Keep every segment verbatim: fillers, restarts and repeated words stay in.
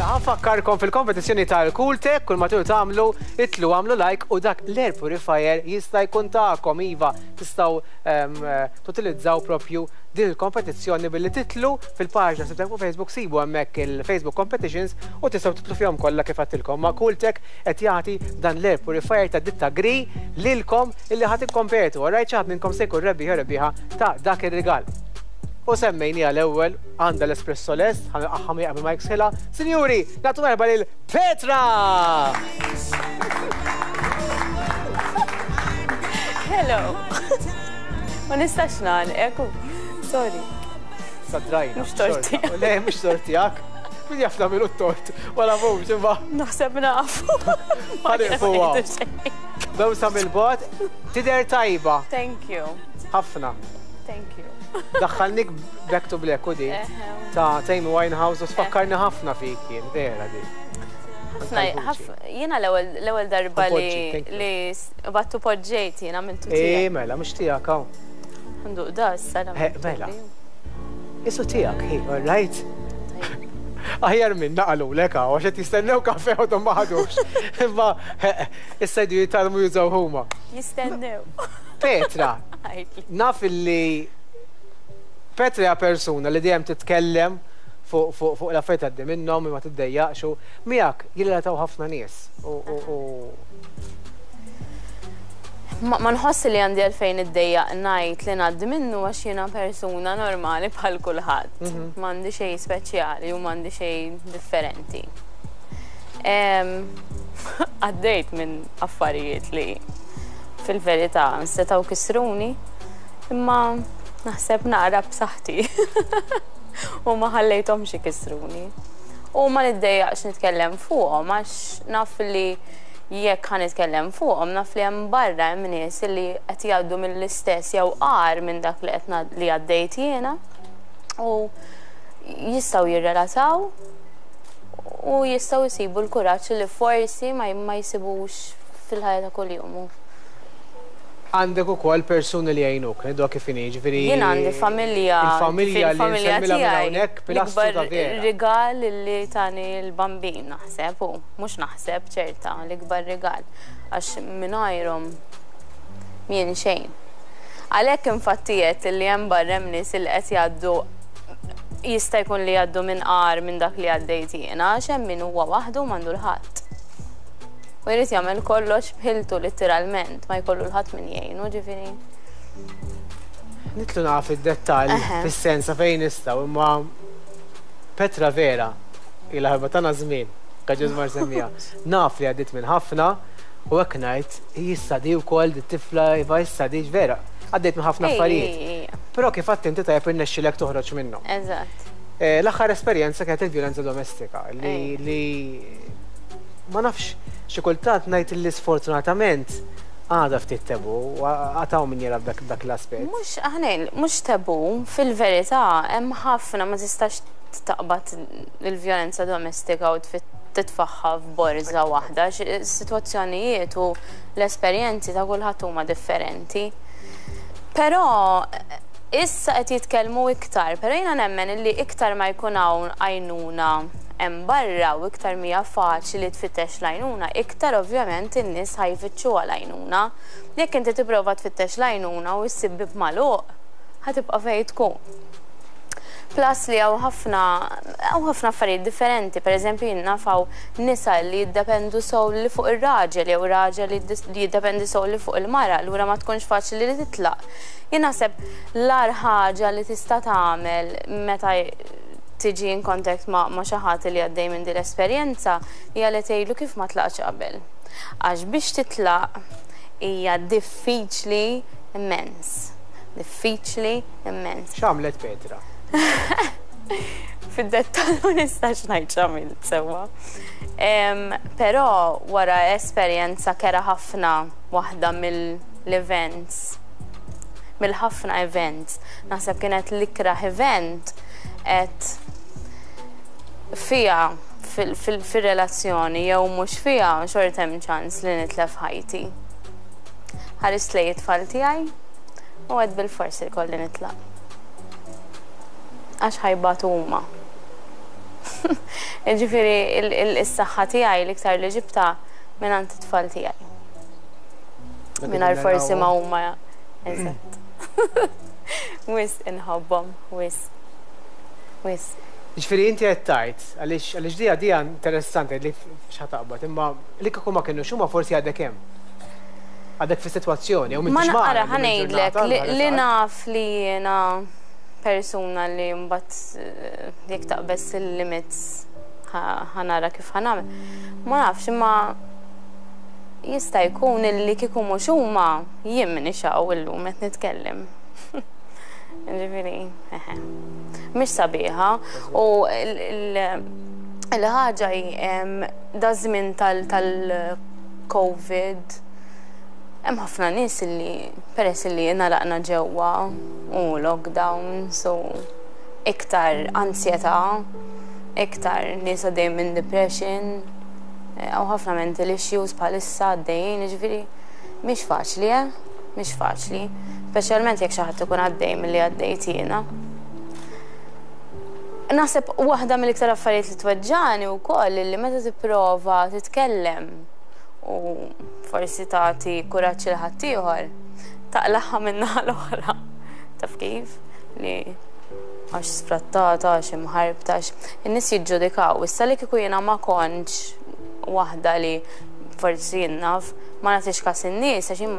Mela, ħa nfakkarkom fil-kompetizzjoni tal-Cooltech, kull ma tridu tagħmlu, itilgħu għamlu like u dak l-air purifier jista' jkun tagħkom, iva, tistgħu ehm, tutilizzaw propju din il-kompetizzjoni billi titilgħu fil-paġna Sibtek fuq Facebook, sibu hemmhekk il-Facebook Competitions u tistgħu titilgħu fihom kollha kif għedtilkom. Ma Cooltech qed jagħti dan l-air purifier ta' ditta Gree lilkom illi ħa tikkompetu. Alright, xi ħadd minnkom se jkun rebbieħ rebbieħa ta' dak ir-rigal. U semmejni għal-ewwel għandha l-espresso lest, ħa qabel ma jiksħilha. Sinjuri, nagħtu merħba lil Petra! Hello. Ma nistax nagħlqek. Sorry. Sadrajna. Mhux tort tiegħek. Le, mhux tort tiegħek. Min jaf nagħmlu t-tort? Wala mhux, imma. Naħseb nafu. Ħa nieqfu. Daw sa mill-bogħod, tidher tajba. Thank you. Ħafna. Thank you. Daħħalnik Back to Black u di ta' Amy Winehouse u tfakkarni ħafna fik jien, vera di. Ħafna, jiena l-ewwel darba li li battu poġġejt jiena għamiltu tiegħek. Eh, mela, mhux tiegħek hawn. Nduq da issa. Mela. Isu tiegħek, hey, all right? Aħjar minn naqalulek hawn, għax qed jistennew kafe u ma ħadux. Imma issa jdu jitgħallmu jużaw huma. Jistennew. Petra, naf illi Petra hija persuna li dejjem titkellem fuq l-affarijiet għaddi minnhom ma tiddejjaqx u miegħek jirrelataw ħafna nies. Ma nħoss li għandi għalfejn iddejjaq ngħid li ngħaddi minnu għax jiena persuna normali bħal kulħadd. M'għandi xejn speċjali u m'għandi xejn differenti. Għaddejt minn affarijiet li fil-verità setgħu kisruni, imma naħseb naqra b'saħħti u ma ħallejthomx ikissruni. U ma niddejjaqx nitkellem fuqhom għax naf li jekk ħa nitkellem fuqhom naf li hemm barra hemm nies li qed jgħaddu mill-istess jew qar minn dak li qed li għaddejt jiena u jistgħu jirrelataw u jistgħu jsibu l-kuraġġ li forsi ma jsibux fil-ħajja ta' kuljum. Għandek ukoll persuni li jgħinuk, ngħidu kif inhi, ġifieri. Jien għandi familja. Il-familja li nsemmilha minn hawnhekk pilastru ta' vera. Rigal li tani l-Bambin naħseb, u mhux naħseb ċerta l-ikbar rigal għax mingħajrhom mien xejn. Għalhekk infatti qed li hemm barra hemm nies li qed jgħaddu jista' jkun li jgħaddu minn qar minn dak li għaddejt jiena għax hemm min huwa waħdu m'għandu l-ħadd. U jrid jagħmel kollox b'ħiltu litteralment, ma jkollu l-ħadd min jgħinu, ġifieri. Nidħlu naf id-dettall fis-sensa fejn nistgħu, imma Petra vera, ilha ħarba tagħna żmien, kaġuż mar semmija. Naf li għaddiet minn ħafna u hekk ngħid issa di wkoll di tifla iva issa di vera, għaddejt minn ħafna affarijiet. Però kif għedt inti tajjeb irnexxilek toħroġ minnhom. Eżatt. L-aħħar esperjenza kienet il-vjolenza domestika li ma nafx xi kultant ngħid li sfortunatament għadha ftit tabu, għataw min jara b'dak l-aspett. Mhux aħna mhux tabu, fil-verità hemm ħafna ma tistax taqbad il-vjolenza domestika u titfaħħa f'borża waħda, is-sitwazzjonijiet u l-esperjenzi ta' kulħadd huma differenti. Però issa qed jitkellmu iktar, però jiena nemmen illi iktar ma jkun hawn għajnuna hemm barra u iktar mija faċli tfittex l-għajnuna, iktar ovvjament in-nies ħa jfittxuha l-għajnuna. Jekk inti tipprova tfittex l-għajnuna u ssib bieb magħluq, ħa tibqa' fejn tkun. Plus li hawn ħafna hawn ħafna affarijiet differenti, pereżempju jien naf hawn nisa li jiddependu solely fuq ir-raġel jew raġel li jiddependi solely fuq il-mara, allura ma tkunx faċli li titlaq. Jien naħseb l-agħar ħaġa li tista' tagħmel meta tiġi in contact ma' xi ħadd li għaddej minn din l-esperjenza hija li tgħidlu kif ma tlaqx qabel. Għax biex titlaq hija diffiċli immens. Diffiċli immens. X'għamlet Petra? Fid-dettall ma nistax ngħid x'għamilt sewwa. Però wara esperjenza kera ħafna waħda mill-events, mill-ħafna events, naħseb kienet l-ikraħ event qed fija fil-relazzjoni jew mhux fija xorta hemm ċans li nitlef ħajti. Ħarist lejn it-tfal tiegħi u għedt bilfors ikolli nitlaq. Għax ħa jbatu huma. Ġifieri is-saħħa tiegħi l-iktar li ġibta minn għand it-tfal tiegħi. Mingħajr forsi ma huma. Eżatt. Wisq inħobbhom, wisq. Wisq. Ġifieri inti qed tgħid, għaliex għaliex dija dija interessanti li x'ħa taqbad, imma li kieku ma kienu huma forsi għadek hemm. Għadek fi sitwazzjoni, u Ma m'intix naqra magħna ħa ngħidlek illum li il-ġurnata, li naf li jiena persuna li mbagħad eh, jekk taqbeż il-limits ħa nara kif ħa nagħmel. Ma nafx, imma jista' jkun illi kieku mhux huma jien m'iniex hawn illum qed nitkellem. Ġifieri, eħe. Mhix sabiħa u il-ħaġa hi da żmien tal-Covid hemm ħafna nies illi peress illi ingħalaqna ġewwa u lockdown, so iktar ansjetà, iktar nies għaddejjin minn depression, hawn ħafna mental issues bħalissa għaddejjin, ġifieri mhix faċli, eh? Mhix faċli, speċjalment jekk xi ħadd ikun għaddej milli għaddejt jiena. Naħseb waħda mill-iktar affarijiet li tweġġani wkoll li meta tipprova titkellem u forsi tagħti kuraġġ lil ħaddieħor, taqlaħħa min-naħa l-oħra. Taf kif? Li għax sfrattata, għax imħarbta, għax in-nies jiġġudikaw. Issa li kieku jiena ma kontx waħda li forsi jien naf, ma nagħtix kas in-nies, għax jien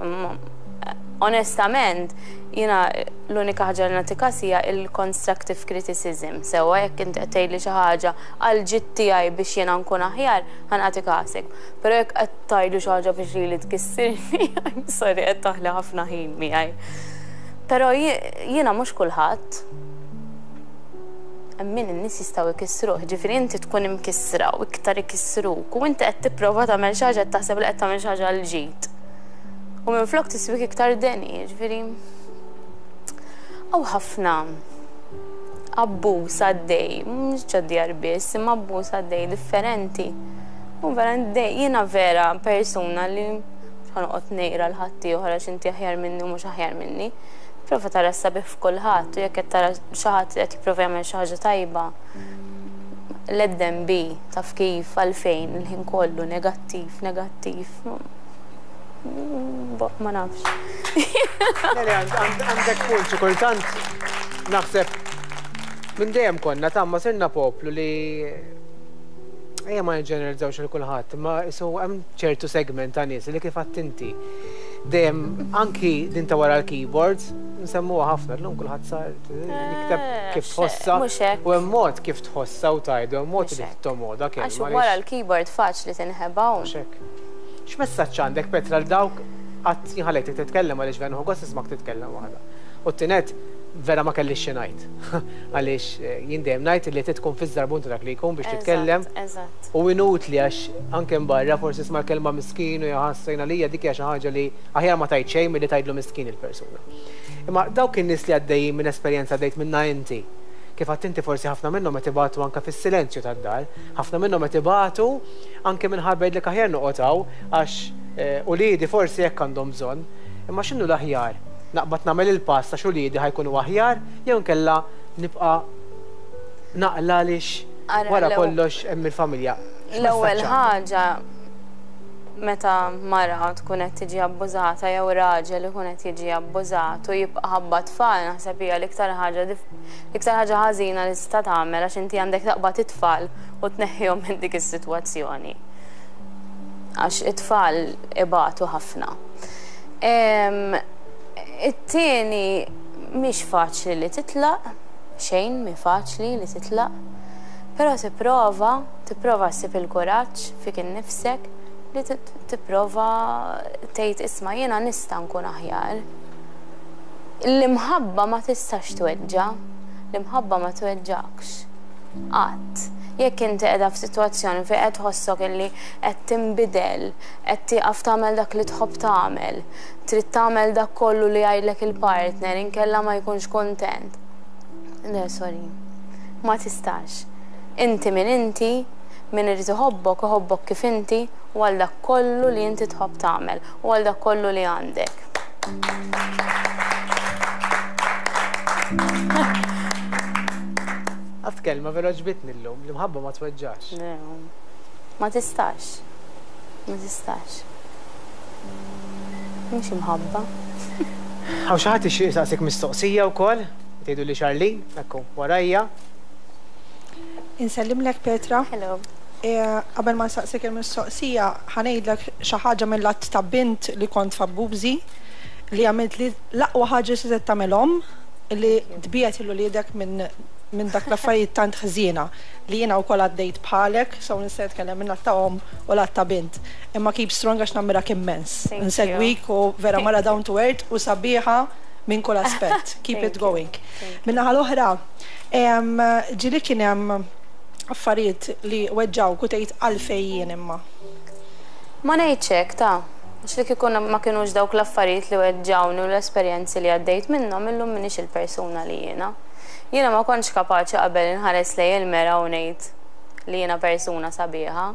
onestament jiena l-unika ħaġa li nagħti kas hija il-constructive criticism. Sewwa jekk inti qed tgħidli xi ħaġa għal ġid tiegħi biex jiena nkun aħjar, ħa nagħti kasek. Però jekk qed tgħidli xi ħaġa biex lili tkissirni, I'm sorry, qed taħli ħafna ħin miegħi. Però jiena mhux kulħadd. Hemm min in-nies jistgħu jkissruh, ġifieri inti tkun imkissra u iktar ikissruk u inti qed tipprova tagħmel xi ħaġa qed taħseb li qed tagħmel xi ħaġa għal ġid. U minflok tiswik iktar deni, ġifieri hawn ħafna abbuż għaddej, mhux ġod-djar biss, imma abbuż għaddej differenti. U vera jiena vera persuna li ħa noqgħod ngħira lil ħaddieħor għax inti aħjar minni u mhux aħjar minni. Prova tara s-sabiħ f'kulħadd u jekk qed tara xi ħadd qed jipprova jagħmel xi ħaġa tajba, let them be, taf kif, għalfejn, il-ħin kollu negattiv, negattiv. Ma nafx. Le, le, għandek punt, xi kultant naħseb minn dejjem konna tamma sirna poplu li ejja ma nġeneralizzawx lil kulħadd, imma isu hemm ċertu segment ta' nies li kif għedt inti dejjem anki din ta' wara l-keyboards nsemmuha ħafna llum kulħadd sar jikteb kif tħossa Mhux hekk. u hemm mod kif tħossa u tgħidu, hemm mod li tomoda kelma. Għax wara l-keyboard faċli tinħeba. Mhux hekk. X'messaġġ għandek Petra l dawk qatt jien ħallejtek titkellem għaliex vera nieħu gost nismak titkellem waħda. U t-tinet vera ma kellix xi ngħid. Għaliex jien dejjem ngħid li tkun fiż-żarbun ta' dak li jkun biex titkellem. Eżatt. U inutli għax anke barra forsi isma' l-kelma miskin u jaħassejna lija dik hija xi ħaġa li aħjar ma tgħid xejn milli tgħidlu miskin il-persuna. Imma dawk in-nies li għaddejjin minn esperjenza għaddejt minnha inti, kif għedt inti forsi ħafna minnhom qed ibatu anke fis-silenzju tad-dar, ħafna minnhom qed ibatu anke minħabba jgħidlek aħjar noqgħod hawn għax uliedi forsi hekk għandhom bżonn. Imma x'inhu l-aħjar? Naqbad nagħmel il-pass għax uliedi ħa jkunu aħjar jew nkella nibqa' naqla għaliex Ara, wara l-ewwel kollox hemm il-familja. L-ewwel ħaġa meta mara tkun qed tiġi abbużata jew raġel ikun qed jiġi abbużat u jibqa' ħabba tfal, naħseb hija l-iktar ħaġa l-iktar ħaġa ħażina li tista' tagħmel għax inti għandek taqbad it-tfal u tneħħihom minn dik is-sitwazzjoni. Għax it-tfal ibatu ħafna. It-tieni mhix faċli li titlaq, xejn mhi faċli li titlaq, però tipprova, tipprova ssib il-kuraġġ fik innifsek li tipprova tgħid isma' jiena nista' nkun aħjar. L-imħabba ma tistax tweġġa', l-imħabba ma tweġġakx. Qatt. Jekk inti qiegħda f'sitwazzjoni fejn qed tħossok illi qed tinbidel, qed tieqaf tagħmel dak li tħobb tagħmel, trid tagħmel dak kollu li jgħidlek il-partner inkella ma jkunx kuntent. Le, sorry. Ma tistax. Inti min inti, min irid iħobbok, iħobbok kif inti, u għal dak kollu li inti tħobb tagħmel, u għal dak kollu li għandek. Għad Għedt kelma vera għoġbitni llum, l-imħabba ma tweġġax. Ma tistax. Ma tistax. Mhux imħabba. Hawn xi ħadd ixtieq saqsik mistoqsija wkoll, tgħidu li Charlene, ekku, warajja. Insellimlek, Petra. Hello. Qabel ma nsaqsik il-mistoqsija, ħa ngħidlek xi ħaġa mill-att ta' bint li kont f'abbużi, li għamilt li l-aqwa ħaġa li tagħmelhom li tbiegħed lil uliedek minn minn dak l-affarijiet tant ħżiena li jiena wkoll għaddejt bħalek, so nista' nitkellem minn ta' omm u lat ta' bint. Imma keep strong għax nammirak immens. Nsegwik u vera mara down to earth u sabiħa minn kull aspett. Keep it going. Min-naħa l-oħra, ġieli kien hemm affarijiet li weġġawk u tgħid għalfejn jien imma? Ma ngħidx hekk ta' għax li kieku ma kienux dawk l-affarijiet li weġġawni u l-esperjenzi li għaddejt minnhom, illum m'iniex il-persuna li jiena. Jiena ma kontx kapaċi qabel inħares lejn il-mera u ngħid li jiena persuna sabiħa.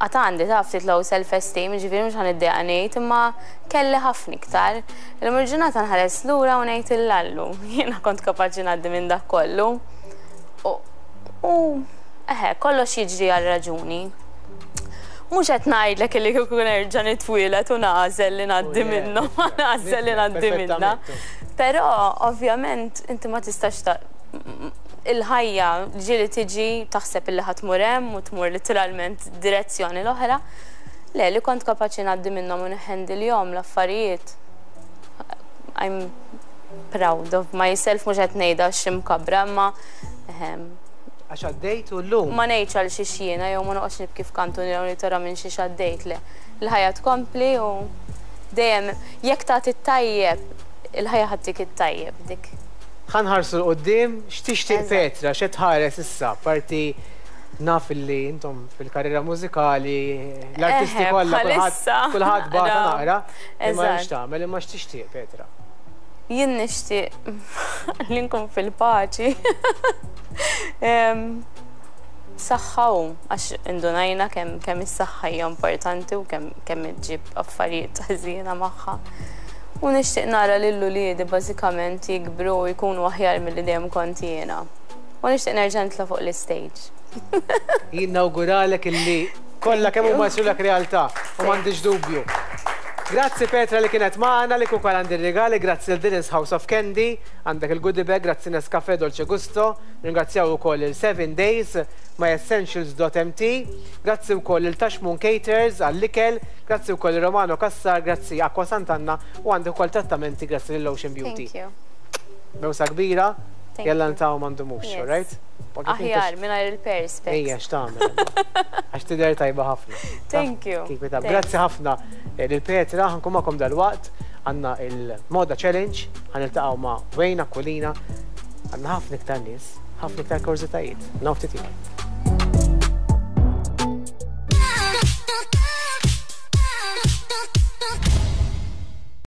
Għad għandi ta' ftit low self-esteem, ġifieri mhux ħa niddejjaq ngħid, imma kelli ħafna iktar. Illum il-ġurnata nħares lura u ngħid illallu. Jiena kont kapaċi ngħaddi minn dak kollu. U eħe, kollox jiġri għal raġuni. Mhux qed ngħidlek li kieku nerġa' nitwieled u nagħżel li ngħaddi minnhom, nagħżel li ngħaddi minnha. Però ovvjament inti ma tistax ta' il-ħajja ġieli tiġi taħseb illi ħa tmur hemm u tmur literalment direzzjoni l-oħra. Le, li kont kapaċi ngħaddi minnhom u nħendilhom l-affarijiet. I'm proud of myself, mhux qed ngħidha x'imkabra, imma Għax għaddejt u llum. Ma ngħidx għal xi jiena jew ma noqgħodx nibki f'kantu li tara minn xi għaddejt, le. Il-ħajja tkompli u dejjem jekk tagħti t-tajjeb, il-ħajja ħa ttik it-tajjeb dik. Ħa nħarsu 'l quddiem, x'tixtieq Petra, x'qed tħares issa, parti naf li intom fil-karriera mużikali, l-artisti kollha kulħadd bata naqra, imma x'tagħmel, imma x'tixtieq, Petra? Jien nixtieq li nkun fil-paċi. Saħħa u għax indunajna kemm kemm is-saħħa hija importanti u kemm kemm iġġib affarijiet ħżiena magħha. U nixtieq nara lil uliedi bażikament jikbru u jkunu aħjar milli dejjem kont jiena. U nixtieq nerġa' nitla' fuq l-istage. Jien nawguralek illi kollha kemm huma jsirulek realtà u m'għandix dubju. Grazzi Petra li kienet magħna, li kukal għandi regali, grazzi lil Dylan's House of Candy, għandek il-goodie bag, grazzi Nescafe Dolce Gusto, ringrazzjaw ukoll il Seven Days, myessentials dot M T, grazzi wkoll il Tashmoon Caters għall-ikel, grazzi wkoll il Romano Cassar, grazzi Acqua Sant'Anna u għandek ukoll trattamenti grazzi l Ocean Beauty. Thank you. Bewsa kbira, jalla ntaw mandumux, alright? Aħjar, mingħajr il-perspex. Ejja, x'tagħmel? Għax tidher tajba ħafna. Thank you. Keep it up. Grazzi ħafna eh, lil Petra, ħa nkun magħkom dalwaqt, għandna il-Moda Challenge, ħa niltaqgħu ma' Wayne Aquilina, għandna ħafna iktar nies, ħafna iktar kurżitajiet. Naf ftit.